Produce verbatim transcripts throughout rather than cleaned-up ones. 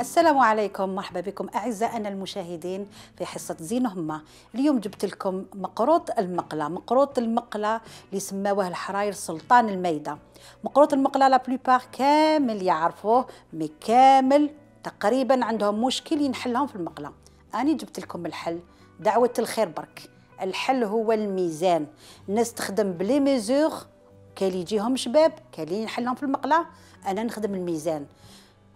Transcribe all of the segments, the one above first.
السلام عليكم، مرحبا بكم أعزائنا المشاهدين في حصة زين همة. اليوم جبت لكم مقروط المقلة. مقروط المقلة اللي سماوه الحراير سلطان الميدة. مقروط المقلة لا بلوبار كامل يعرفوه، مي كامل تقريبا عندهم مشكل ينحلهم في المقلة. أنا جبت لكم الحل، دعوة الخير برك. الحل هو الميزان. الناس تخدم بلي ميزور، كاين اللي يجيهم شباب، كاين اللي ينحلهم في المقلة. أنا نخدم الميزان.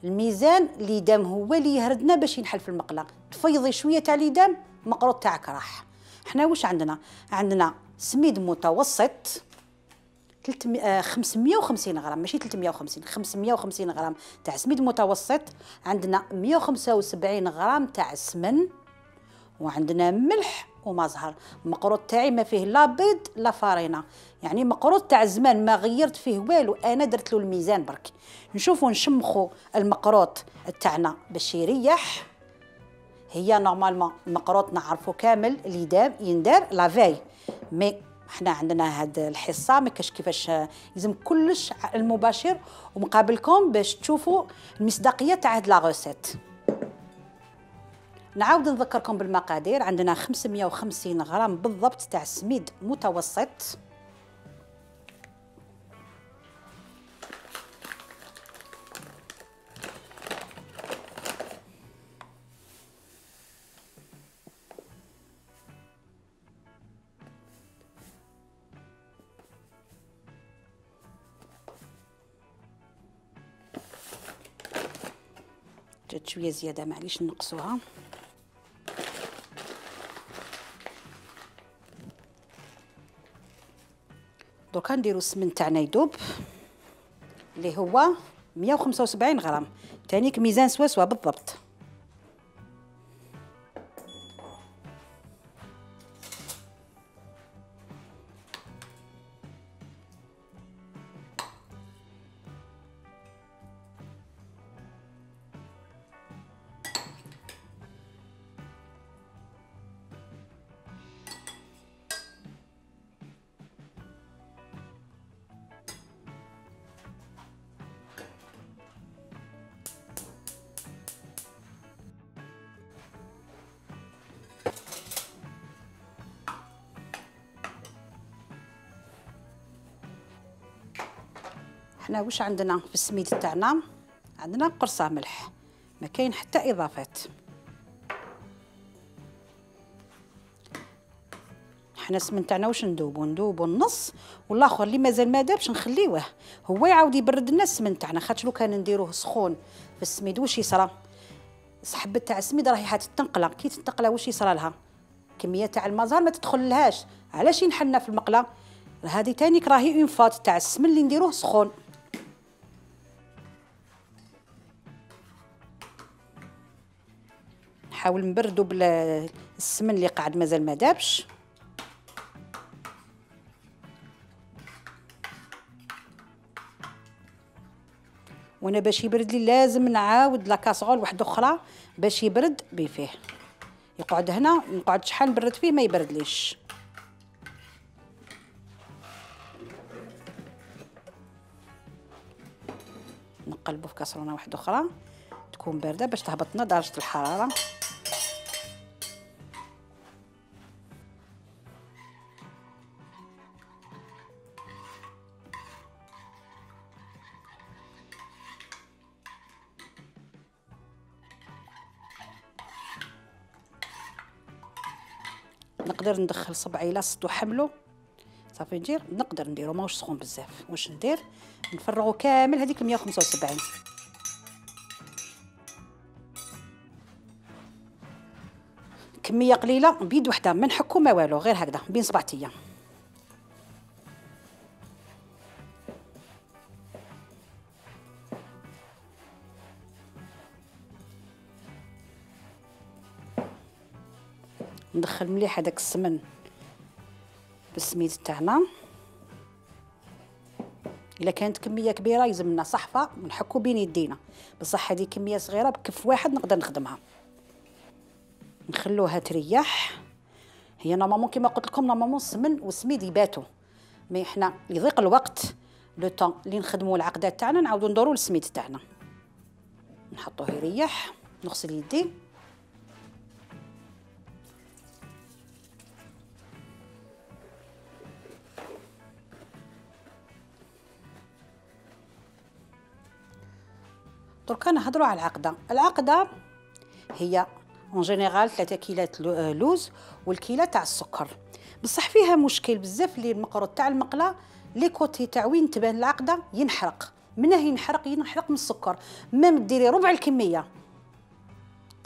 الميزان ليدام هو اللي يهردنا باش ينحل في المقله. تفيضي شويه تاع ليدام، مقروط تاعك راح. حنا واش عندنا؟ عندنا سميد متوسط خمسمية وخمسين غرام، ماشي ثلاثمية وخمسين، خمسمية وخمسين غرام تاع سميد متوسط. عندنا مية وخمسة وسبعين غرام تاع السمن، وعندنا ملح وما زهر. المقروط تاعي ما فيه لا بيض لا فارينه، يعني مقروط تاع زمان ما غيرت فيه والو، انا درت له الميزان برك. نشوفوا نشمخوا المقروط تاعنا باش يريح. هي نورمالمون المقروط نعرفوا كامل اللي دام يندار لافاي، مي احنا عندنا هاد الحصه ما كاش كيفاش، لازم كلش المباشر ومقابلكم باش تشوفوا المصداقيه تاع هاد لا روسيت. نعاود نذكركم بالمقادير. عندنا خمسمية وخمسين غرام بالضبط تاع سميد متوسط، جات شويه زياده معليش نقصوها. دوكا نديرو السمن تاعنا يذوب اللي هو مية وخمسة وسبعين غرام، تانيك ميزان سوا سوا بالضبط. حنا واش عندنا في السميد تاعنا؟ عندنا قرصه ملح، ما كاين حتى اضافات. حنا السمن تاعنا واش ندوبو؟ ندوبو النص، والاخر اللي مازال ما دابش نخليوه هو يعاود يبرد لنا السمن تاعنا. خاطش لو كان نديروه سخون في السميد واش يصرى؟ الحبه تاع السميد راهي حات تنقله، كي تنقله واش يصرى لها؟ كميه تاع المزهر ما تدخللهاش. علاش ينحلنا في المقله؟ هذه تانيك راهي اون فات تاع السمن اللي نديروه سخون. نحاول نبردو بالسمن اللي قاعد مازال ما دابش. وانا باش يبرد لي لازم نعاود لا كاسرول واحده اخرى باش يبرد بفيه. يقعد هنا نقعد شحال نبرد فيه ما يبردليش. نقلبو في كاسرونه واحده اخرى تكون بارده باش تهبطنا درجه الحراره. نقدر ندخل صبعي لاصت وحملو صافي ندير، نقدر نديرو ماهوش سخون بزاف. واش ندير؟ نفرغو كامل هذيك مية وخمسة وسبعين. كميه قليله بيد وحده، ما نحكو ما والو، غير هكذا بين صبعتيا. ندخل مليح هذاك السمن بالسميد تاعنا. الا كانت كميه كبيره يلزمنا صحفه ونحكو بين يدينا، بصح هذه كميه صغيره بكف واحد نقدر نخدمها. نخلوها تريح. هي نورمالمون كيما قلت لكم نورمالمون السمن والسميد يباتوا، مي حنا يضيق الوقت لو طون اللي نخدموا العقدات تاعنا نعاودوا ندوروا السميد تاعنا. نحطوه يريح. نغسل يدي. دركا نهضروا على العقده. العقده هي اون جينيرال ثلاثة كيلات لوز والكيله تاع السكر، بصح فيها مشكل بزاف اللي المقروط تاع المقله لي كوتي تاع وين تبان العقده ينحرق. منه ينحرق؟ ينحرق من السكر. ميم ديري ربع الكميه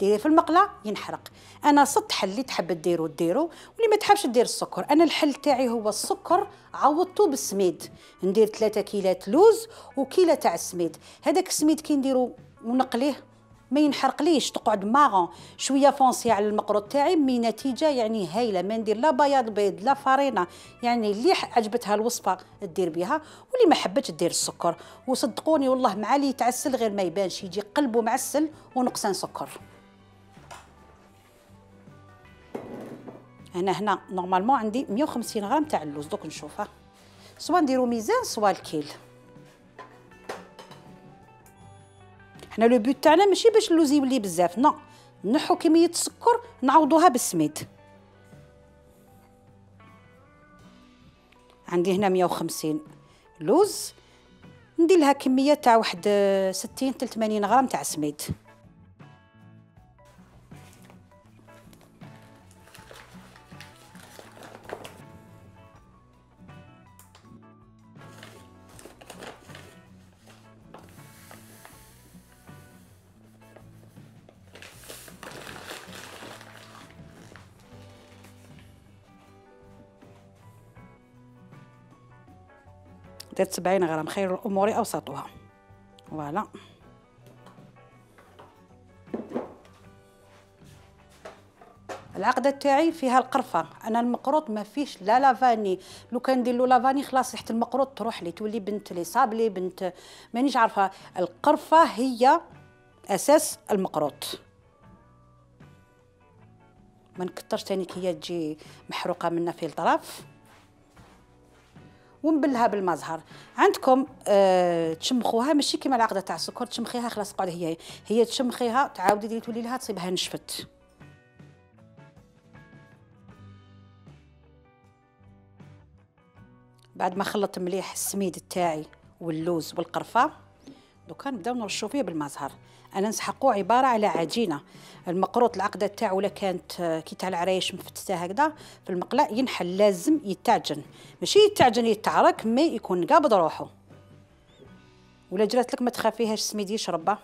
ديريه في المقله ينحرق. انا صدت حل اللي تحب ديرو ديرو، واللي ما تحبش دير السكر. انا الحل تاعي هو السكر عوضته بالسميد. ندير ثلاثة كيلات لوز وكيله تاع السميد. هذاك السميد كي نديرو ونقليه ما ينحرقليش، تقعد ماغون شويه فونسي على المقروط تاعي، مي نتيجه يعني هايله. ما ندير لا بياض بيض لا فرينه، يعني اللي عجبتها الوصفه دير بها، واللي ما حبتش دير السكر. وصدقوني والله مع اللي يتعسل غير ما يبانش، يجي قلبه معسل ونقصان سكر. انا هنا نورمالمون عندي مية وخمسين غرام تاع اللوز. دوك نشوفها سوا نديرو ميزان سوا الكيل. حنا لو بوت تاعنا ماشي باش اللوز يولي بزاف، نو نحو كميه السكر نعوضوها بالسميد. عندي هنا مية وخمسين لوز، ندير لها كميه تاع واحد ستين حتى ثمانين غرام تاع سميد. درت سبعين غرام، خير الامور اوسطها. فوالا العقده تاعي فيها القرفه. انا المقروط ما فيش لا لافاني، لو كان ندير له لافاني خلاص ريحه المقروط تروح لي، تولي بنت لي صابلي بنت مانيش عارفه. القرفه هي اساس المقروط. ما نكترش تاني كي هي تجي محروقه منا في الطرف. ونبلها بالمزهر. عندكم أه تشمخوها ماشي كيما العقده تاع السكر، تشمخيها خلاص قاعده هي هي تشمخيها تعاودي ديري تولي لها تصيبها نشفت. بعد ما خلطت مليح السميد تاعي واللوز والقرفه، دوكا نبداو نرشو فيه بالمزهر. انا نسحقو عباره على عجينه. المقروط العقده تاعو ولا كانت كي تاع العرايش مفتته هكذا في المقله ينحل، لازم يتعجن، ماشي يتعجن يتعرك، مي يكون قابض روحو. ولا جرات لك ما تخافيهاش السميد يشربه.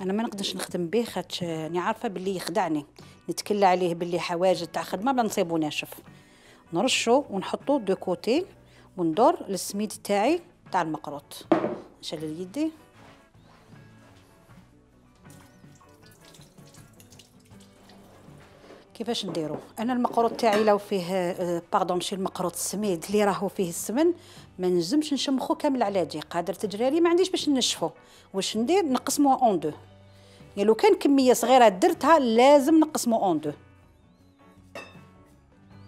انا ما نقدرش نخدم به خاطش راني عارفه باللي يخدعني، نتكلى عليه باللي حواجز تاع خدمه ما نصيبو ناشف. نرشو ونحطو دو كوتي وندور للسميد تاعي تاع المقروط. نشلل يدي. كيفاش نديرو؟ انا المقروط تاعي لو فيه باردون ماشي المقروط السميد اللي راهو فيه السمن ما نجمش نشمخو كامل على جي، قادر تجرالي ما عنديش باش نشفو. واش ندير؟ نقسموها اون دو. يعني لو كان كميه صغيره درتها لازم نقسمو اون دو.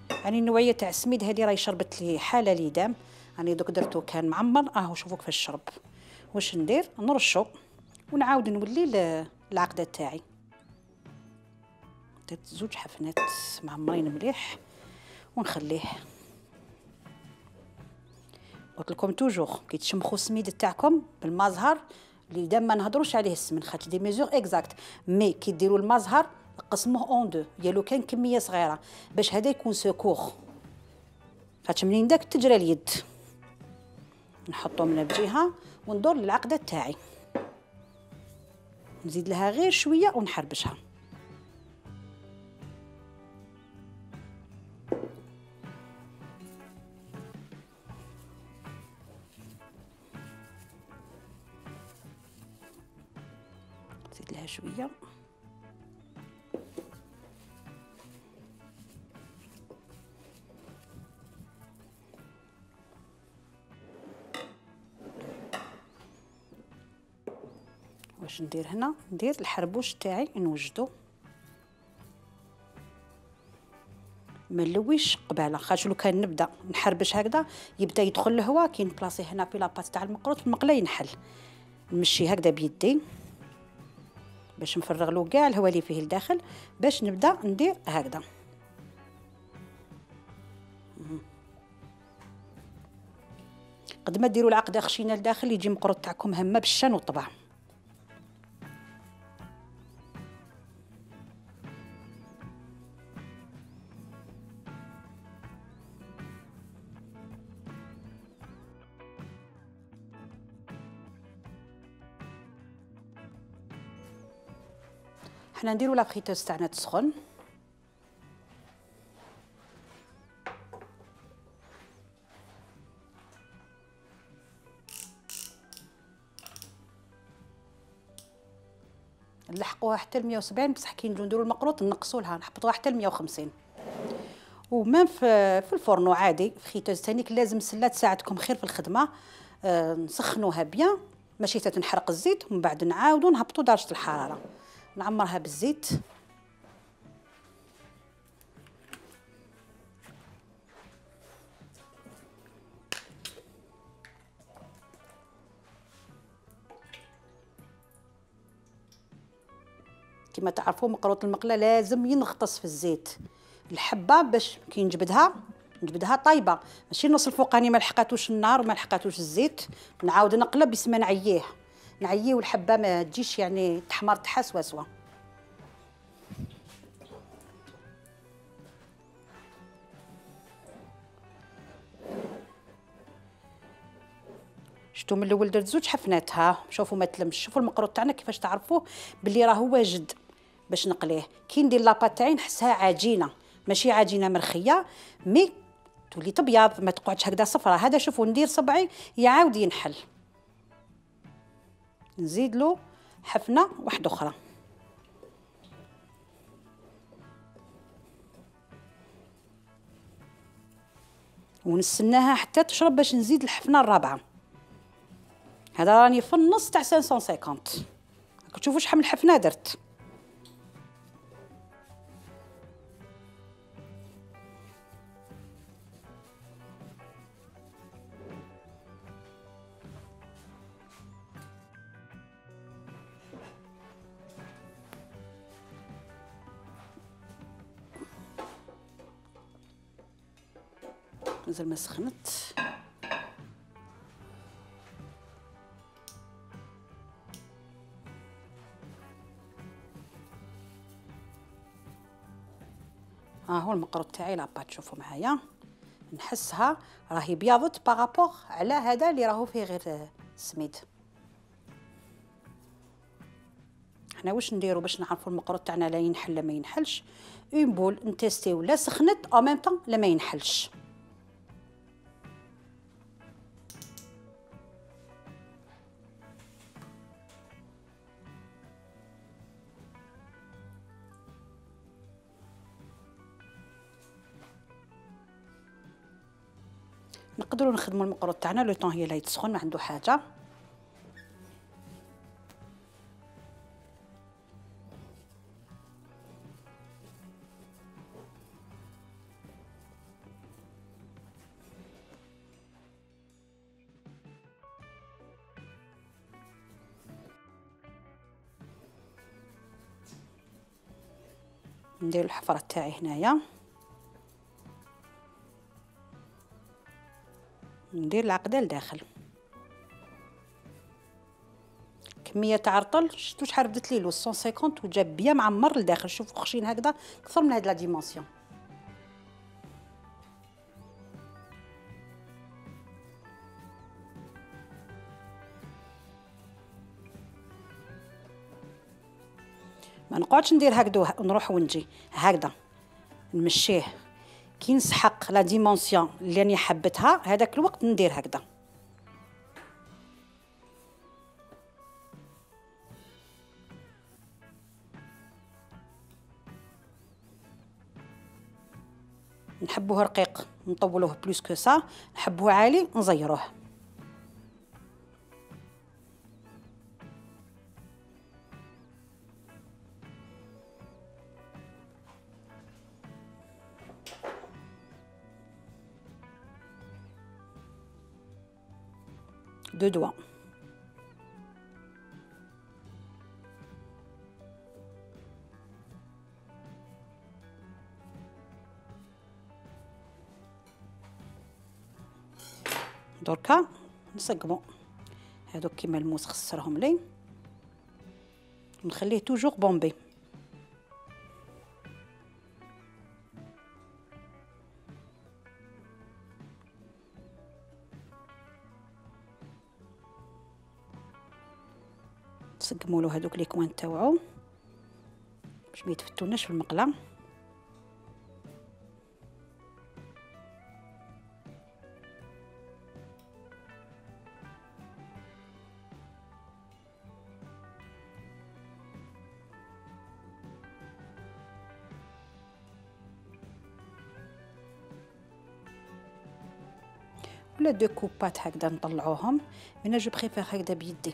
يعني النوعيه تاع السميد هذه راهي شربت لي حاله ليدام، راني دوك درتو كان معمر اهو شوفوا كيفاش شرب. واش ندير؟ نرشو ونعاود نولي العقده تاعي. درت زوج حفنات معمرين مليح ونخليه. قلت لكم توجور كي تشمخوا السميد تاعكم بالمزهر اللي دام ما نهضروش عليه السمن خاطر دي ميزور اكزاكت، مي كي ديروا المزهر قسموه اون دو، يا لو كان كميه صغيره باش هذا يكون سكوخ، خاطر منين داك تجرى اليد. نحطو من بجهه وندور للعقده تاعي، نزيد لها غير شويه ونحربشها. نزيد لها شويه. واش ندير هنا؟ ندير الحربوش تاعي نوجدو ما نلويش قباله، خاطر لو كان نبدا نحربش هكذا يبدا يدخل الهواء كي نبلاصي هنا في لاباط تاع المقروط في المقله ينحل. نمشي هكذا بيدي باش نفرغ له كاع الهواء اللي فيه لداخل باش نبدا ندير هكذا. قد ما ديروا العقده خشينه لداخل يجي مقروط تاعكم همه بالشان والطبع. حنا نديرو لا فريتوز تاعنا تسخن. نلحقوها حتى ل مية وسبعين، بصح كي نجيو نديرو المقروط نقصوا لها نحبطوها حتى ل مية وخمسين. ومام في في الفرن عادي فريتوز تانيك لازم سله تساعدكم خير في الخدمه. آه نسخنوها بيان ماشي تنحرق الزيت، ومن بعد نعاودو نهبطو درجه الحراره، نعمرها بالزيت. كما تعرفوا مقروط المقله لازم ينغطس في الزيت الحبه باش كي نجبدها نجبدها طايبه، ماشي النص الفوقاني ما لحقاتوش النار وما لحقاتوش الزيت نعاود نقلب بس ما نعييه نعييه والحبه ما تجيش يعني تحمر تاعها سوا سوا. شفتوا من الاول درت زوج حفنات ها، شوفوا ما تلمش. شوفوا المقروط تاعنا كيفاش تعرفوه باللي راهو واجد باش نقليه. كي ندير لاباط تاعي نحسها عجينه ماشي عجينه مرخيه، مي تولي تبيض ما تقعدش هكذا صفرة. هذا شوفوا ندير صبعي يعاود ينحل، نزيد له حفنه واحده اخرى ونستناها حتى تشرب باش نزيد الحفنه الرابعه. هذا راني في النص تاع خمسمية وخمسين. تشوفوا شحال من حفنه درت. مازال ما سخنت. ها هو المقروط تاعي لاباط. شوفوا معايا نحسها راهي بياضت بارابور على هذا اللي راهو فيه غير السميد. حنا واش نديرو باش نعرفوا المقروط تاعنا لا ينحل لا ما ينحلش؟ اون بول نتيستيو لا سخنت او ميم طون لا ما ينحلش. نقدروا نخدموا المقروط تاعنا لو طون هي لا يتسخن ما عنده حاجه. ندير الحفره تاعي هنايا، ندير العقده لداخل. كميه تاع رطل شفتوا شحال بدت لي له مية وخمسين وجاب بيان معمر لداخل. شوفوا خشين هكذا اكثر من هاد لا ديمونسيون. ما نقعدش ندير هكذا ونروح ونجي هكذا، نمشيه كي نسحق لا ديمونسيون اللي راني حبتها هذاك الوقت ندير هكذا. نحبوه رقيق نطولوه بلوس كو سا، نحبوه عالي نزيروه. دو دوا. دركا نسقمو هادوك كيما الموس خسرهم لي، نخليه توجور بومبي. نسقمولو هادوك لي كوان تاوعو باش ما يتفتوناش في المقله. ولا دو كوبات هكذا نطلعوهم، انا جو بريفير هكذا بيدي.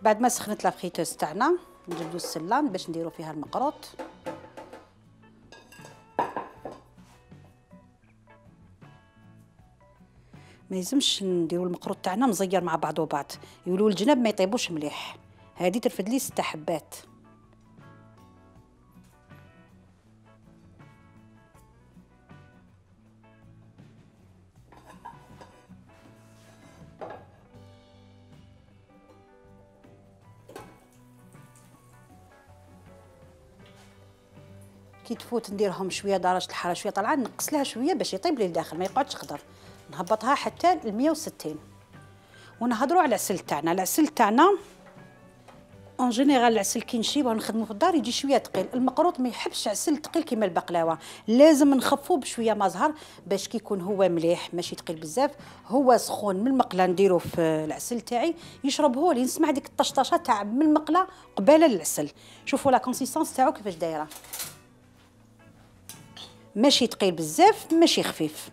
بعد ما سخنت لا فريتوز تاعنا نجبدو السلان باش نديرو فيها المقروط. ما يلزمش نديرو المقروط تاعنا مزير مع بعضو بعض، يولوا الجناب ما يطيبوش مليح. هذه ترفد لي ست حبات. كي تفوت نديرهم شويه درجه الحراره شويه طالعه، نقص لها شويه باش يطيب لي لداخل ما يقعدش خضر. نهبطها حتى ل مية وستين. ونهضروا على العسل تاعنا. العسل تاعنا اون جينيرال العسل كي نشيبه ونخدمو في الدار يجي شويه ثقيل. المقروط ما يحبش عسل ثقيل كيما البقلاوه، لازم نخفوه بشويه ما زهر باش كي يكون هو مليح ماشي ثقيل بزاف. هو سخون من المقله نديرو في العسل تاعي يشرب هو لي نسمع ديك الطشطشه تاع من المقله قباله للعسل. شوفوا لا كونسيستونس تاعو كيفاش دايره، ماشي ثقيل بزاف ماشي خفيف.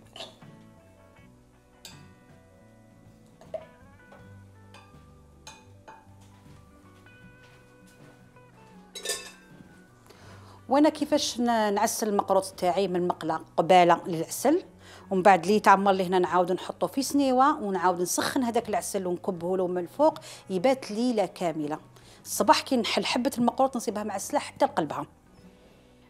وانا كيفاش نعسل المقروط تاعي من المقله قباله للعسل، ومن بعد لي تعمر لي هنا نعاود نحطو في سنيوه ونعاود نسخن هذاك العسل ونكبه له من الفوق يبات ليله كامله. الصباح كي نحل حبه المقروط نصيبها معسله حتى لقلبها.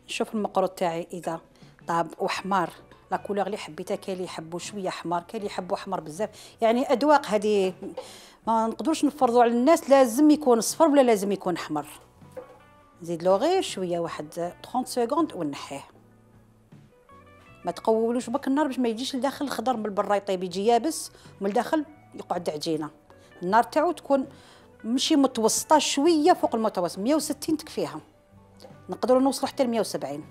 نشوف المقروط تاعي اذا طاب وحمار لا كولور اللي حبيتها. كاين اللي يحبوا شويه حمار، كاين اللي يحبوا حمار بزاف، يعني اذواق هذه ما نقدروش نفرضوا على الناس لازم يكون صفر ولا لازم يكون احمر. نزيد له غير شويه واحد ثلاثين سكوند ونحيه. ما تقولوش بك النار باش ما يجيش لداخل الخضر من برا يطيب يجي يابس ومن الداخل يقعد عجينه. النار تاعو تكون ماشي متوسطه شويه فوق المتوسط، مية وستين تكفيها. نقدروا نوصلوا حتى ل مية وسبعين.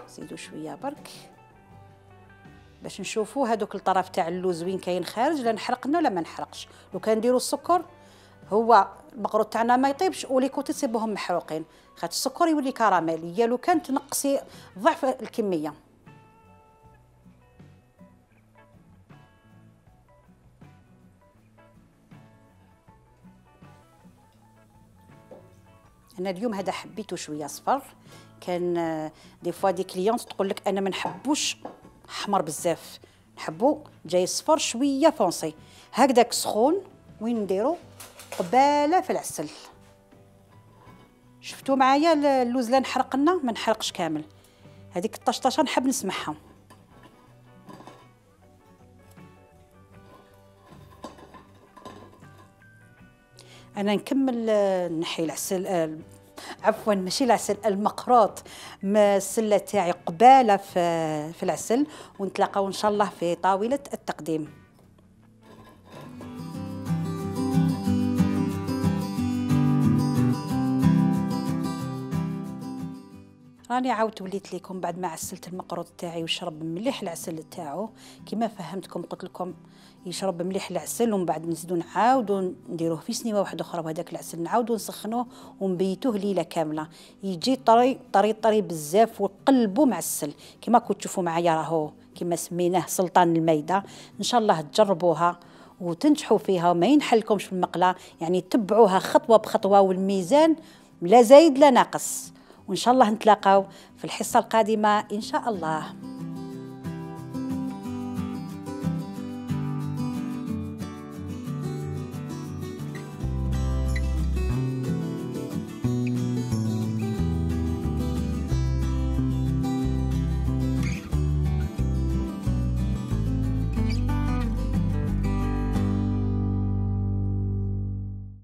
زيدوا شويه برك باش نشوفوا هذوك الطرف تاع اللوز وين كاين خارج، لا نحرقنا ولا ما نحرقش. لو كان نديروا السكر هو المقروط تاعنا ما يطيبش ولي كوتي تصيبوهم محروقين، خاطر السكر يولي كراميل. يا لو كان تنقصي ضعف الكميه. انا اليوم هذا حبيته شويه صفر. كان دي فوا دي كليونت تقول لك انا ما نحبوش احمر بزاف، نحبو جاي صفر شويه فونسي هكذاك سخون. وين نديرو قباله في العسل. شفتوا معايا اللوز لا نحرق لنا ما نحرقش كامل، هذيك الطشطشه نحب نسمعها. انا نكمل نحي العسل، عفوا ماشي العسل المقروط ما السله تاعي قباله في في العسل، ونتلاقاو ان شاء الله في طاوله التقديم. راني عاودت وليت لكم بعد ما عسلت المقروط تاعي وشرب مليح العسل تاعو كما فهمتكم. قلت لكم يشرب مليح العسل ومن بعد نزيدو نعاودو نديروه في سنيوه واحده اخرى، وهذاك العسل نعاودو نسخنوه ونبيتوه ليله كامله يجي طري طري طري بزاف وقلبو معسل. كما كنتو تشوفوا معايا راهو كما سميناه سلطان الميده. ان شاء الله تجربوها وتنجحوا فيها وما ينحلكمش في المقله، يعني تبعوها خطوه بخطوه والميزان لا زايد لا ناقص. وإن شاء الله نتلاقاو في الحصة القادمة إن شاء الله.